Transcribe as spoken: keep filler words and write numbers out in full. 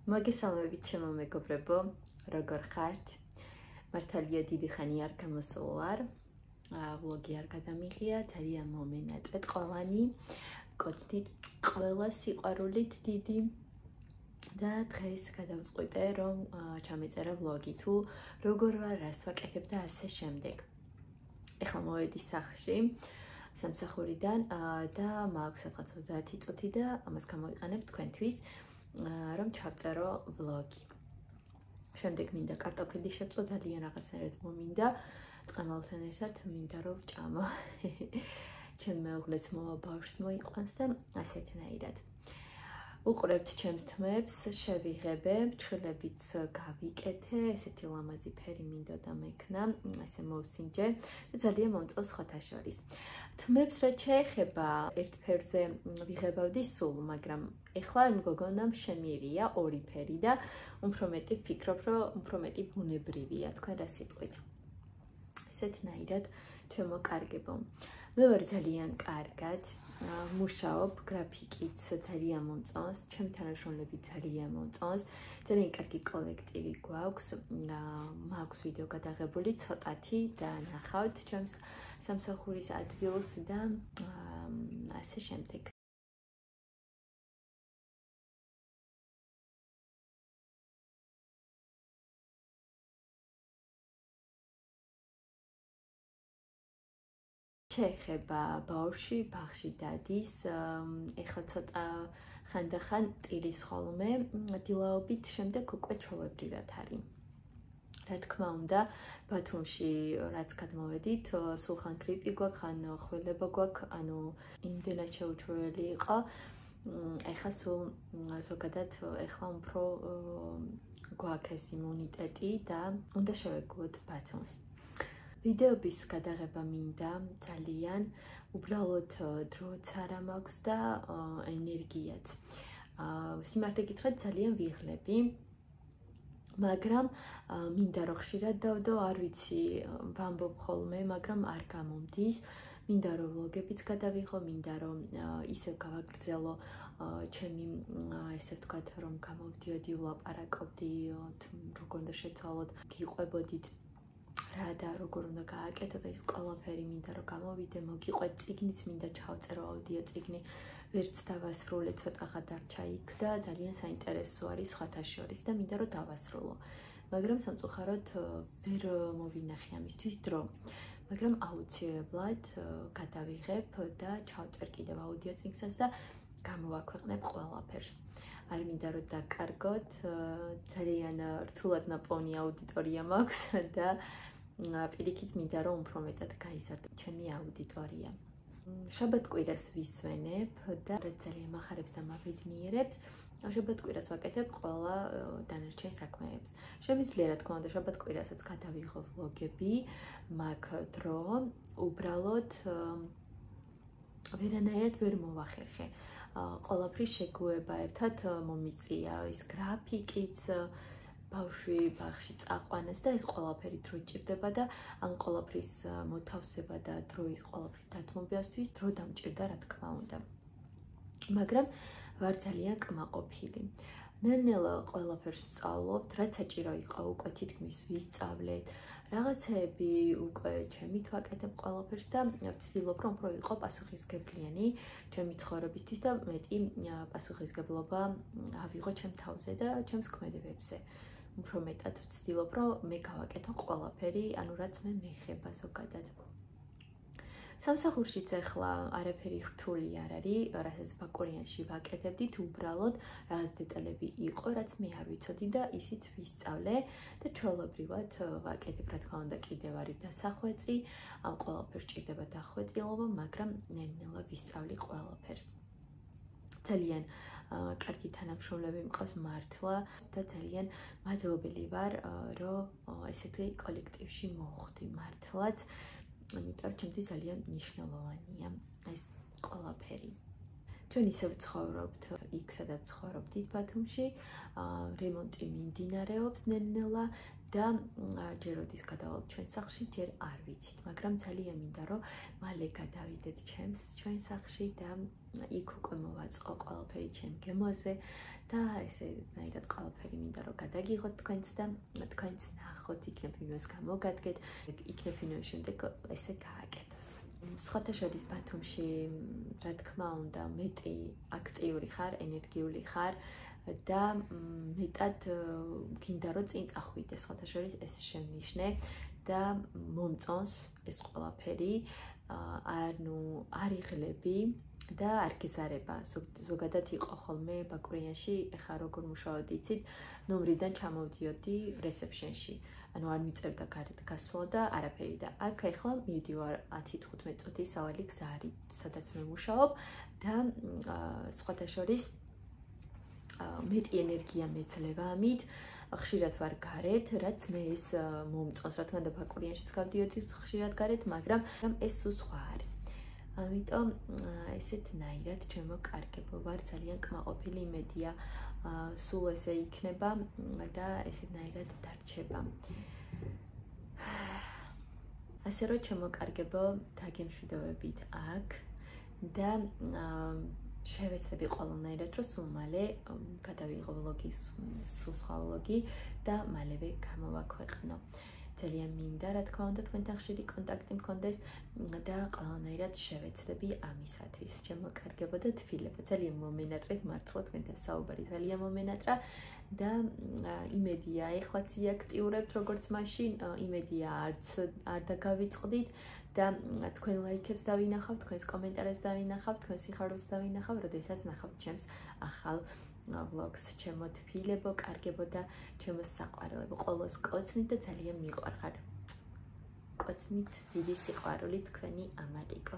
მოგესალმებით ჩემო მეგობრებო, როგორ ხართ? მართალია დიდი ხანი არ გამოსულ ვარ. ვლოგი არ გადამიღია, ძალიან მომენატრეთ ყველანი. გქონდით ყველა სიყვარულით დიდი. და დღეს გადავწყვიტე, რომ ჩამეწერა ვლოგი თუ როგორ ვარ, რას ვაკეთებ და ასე შემდეგ. ეხლა მოვედი სახლში, სამსახურიდან და მაქვს სადღაც ოცდაათი წუთი და ამას გამოვიყენებ თქვენთვის, რომ ჩავწერო ვლოგი. შემდეგ მინდა კარტოფილი შევწვა, ძალიან რაღაცნაირად მომინდა, ტყემალთან ერთად მინდა რომ ვჭამო. ჩემ მეუღლეც მოვა ბავშვს მოიყვანს და ასეთნაირად. უყურებთ ჩემს თმებს, შევიღებე, ჩხილებიც გავიკეთე, ესეთი ლამაზი ფერი მინდოდა მექნა, ესე მოვსინჯე და ძალიან მომწონს სხვათა შორის. თმებს რაც შეეხება, ერთ ფერზე ვიღებავდი სულ, მაგრამ ეხლა იმ გოგონამ შემიერია ორი ფერი და უფრო მეტი ვფიქრობ, რომ უფრო მეტი ბუნებრივია, თქვენ რა სიტყვით. ესეთნაირად შემოკარგებო. მე ვარ ძალიან კარგად, მუშაობ, გრაფიკიც ძალიან მომწონს, ჩემი თანამშრომლები ძალიან მომწონს, ძალიან კარგი კოლექტივი გვაქვს, მაქვს ვიდეო გადაღებული ცოტათი და ნახავთ ჩემს სამსახურის ადგილს და ასე შემდეგ. შეეხება ბავშვი, ბაღში დადის, ეხლა ცოტა ხანდახან ტირის ხოლმე, დილაობით შემდეგ უკვე ჩვეულებრივად არის. რა თქმა უნდა, ბათუმში რაც გადმოვედით, სულხან გრიპი გვაქვს, ან ხველება გვაქვს, ანუ იმდენად შეუჩვეველი იყო. ეხლა სულ ზოგადად ეხლა უფრო გვაქვს ეს იმუნიტეტი და უნდა შევეგუოთ ბათუმს. ვიდეოების გადაღება მინდა ძალიან, უბრალოდ დროც არ მაქვს და ენერგიაც. სიმართლე გითხრათ, ძალიან ვიღლები, მაგრამ მინდა რომ ხშირად დავდო, არ ვიცი, ვამბობ ხოლმე, მაგრამ არ გამომდის. მინდა რომ ვლოგებიც გადავიღო, მინდა რომ ისევ გავაგრძელო ჩემი, ესე ვთქვათ, რომ გამოვდიოდი, ვლაპარაკობდი, როგორ უნდა შეცვალოთ, გიყვებოდით რა და როგორ უნდა გააკეთოთ, ეს ყველაფერი მინდა რომ გამოვიდე, მოგიყვეთ, წიგნიც მინდა ჩავწერო, აუდიო წიგნი, ვერც დავასრულე, ცოტაღა დარჩა იქ და ძალიან საინტერესო არის სხვათა შორის და მინდა რომ დავასრულო. მაგრამ სამწუხაროდ ვერ მოვინახე ამისთვის დრო. მაგრამ აუცილებლად გადავიღებ და ჩავწერ კიდევ აუდიო წიგნსაც და გამოვაქვეყნებ ყველაფერს. არ მინდა რომ დაკარგოთ, ძალიან რთულად ნაპოვნი აუდიტორია მაქვს და პირიქით მინდა რომ უფრო მეტად გაიზარდო ჩემი აუდიტორია. შაბათ-კვირას ვისვენებ და რაც ძალიან მახარებს და მაბედნიერებს, შაბათ-კვირას ვაკეთებ ყველა დანარჩენ საქმეებს. შემიძლია რა თქმა უნდა შაბათ-კვირასაც გადავიღო ვლოგები, მაქვს დრო, უბრალოდ ვერანაირად ვერ მოვახერხე. ყველაფრის შეგუება ერთად მომიწია, ის გრაფიკიც, ბავშვი ბაღში წაყვანას და ეს ყველაფერი დრო ჭირდება და ამ ყველაფრის მოთავსება და დროის ყველაფრის დათმობასთვის დრო დამჭირდა რა თქმა უნდა. მაგრამ ვარ ძალიან კმაყოფილი. ნელ-ნელა ყველაფერს ვსწავლობთ, რაც საჭირო იყო უკვე თითქმის ვისწავლეთ. რაღაცეები უკვე ჩემით ვაკეთებ ყველაფერს და ვცდილობ რომ უფრო ვიყო პასუხისმგებლიანი ჩემი ცხოვრებისთვის და მეტი პასუხისმგებლობა ავიღო ჩემ თავზე და ჩემს ქმედებებზე. უფრო მეტად ვცდილობ რომ მე გავაკეთო ყველაფერი, ანუ რაც მე მეხება ზოგადად. სამსახურშიც ახლა არაფერი რთული არ არის, რასაც ბაკურიანში ვაკეთებდით, უბრალოდ რაღაც დეტალები იყო, რაც მე არ ვიცოდი და ისიც ვისწავლე და ჩვეულებრივად ვაკეთებ, რა თქმა უნდა, კიდევ არის დასახვეწი, ამ ყველაფერს ჭირდება დახვეწილობა, მაგრამ ნელ-ნელა ვისწავლი ყველაფერს. ძალიან კარგი თანამშრომლები მყავს მართლა და ძალიან მადლობელი ვარ, რომ ესეთი კოლექტივში მოვხვდი მართლაც. იმიტომ რომ ჩემთვის ძალიან მნიშვნელოვანია ეს ყველაფერი. ჩვენ ისევ ცხოვრობთ იქ, სადაც ცხოვრობთ დიდ ბათუმში, რემონტი მიმდინარეობს ნელ-ნელა და ჯერ როდის გადავალთ ჩვენ სახლში, ჯერ არ ვიცით, მაგრამ ძალიან მინდა რომ მალე გადავიდეთ ჩემს ჩვენ სახლში და იქ უკვე მოვაწყო ყველაფერი ჩემ გემოზე და ესენაირად ყველაფერი მინდა რომ გადაგიღოთ თქვენც და თქვენც ნახოთ, იქნებ ვინმეს გამოგადგეთ, იქნებ ვინმე შემდეგ ესე გააკეთოს. სხვათა შორის ბათუმში, რა თქმა უნდა, მეტი აქტიური ხარ, ენერგიული ხარ და მეტად გინდა რომ წინ წახვიდე, სხვათა შორის ეს შემნიშნე და მომწონს ეს ყველაფერი, ანუ არ იღლები და არ გეზარება. ზოგადად იყო ხოლმე ბაკურიანში, ეხლა როგორ მუშაობდი იცით, ნომრიდან ჩამოვდიოდი რეცეპშენში. ანუ არ მიწევდა გარეთ გასვლა და არაფერი და აქ ეხლა მივდივარ ათი თხუთმეტი წუთის სავალი გზა არის, სადაც მე მუშაობ და სხვათა შორის მეტი ენერგია მეძლევა ამით, ხშირად ვარ გარეთ, რაც მე ეს მომწონს, რა თქმა უნდა ბაკურიანშიც გავდიოდი ხშირად გარეთ, მაგრამ ეს სულ სხვა არის. ამიტომ ესეთნაირად ჩემო კარგებო ვარ, ძალიან კმაყოფილი, იმედია სულ ესე იქნება და ესეთნაირად დარჩება. ასე რომ ჩემო კარგებო, დაგემშვიდობებით აქ და შევეცდები ყველანაირად რომ სულ მალე გადავიღო ვლოგის სულ სხვა ვლოგი და მალევე გამოვაქვეყნო. ძალიან მინდა, რა თქმა უნდა, თქვენთან ხშირი კონტაქტი მქონდეს და ყველანაირად შევეცდები ამისათვის. ჩემო კარგებო და თბილებო, ძალიან მომენატრეთ მართლა თქვენთან საუბარი, ძალიან მომენატრა და იმედია, ეხლაც იაქტიურებთ როგორც მაშინ, იმედია არც არ დაგავიწყდით და თქვენ ლაიქებს დავინახავთ, თქვენს კომენტარებს დავინახავთ, თქვენ სიხარულს დავინახავთ, როდესაც ნახავთ ჩემს ახალ vlogs, ჩემო თბილებო, კარგებო და ჩემო საყვარელებო, ყოველს კოცნით და ძალიან მიყვარხართ. კოცნით დიდი სიყვარული თქვენი ამალიკო.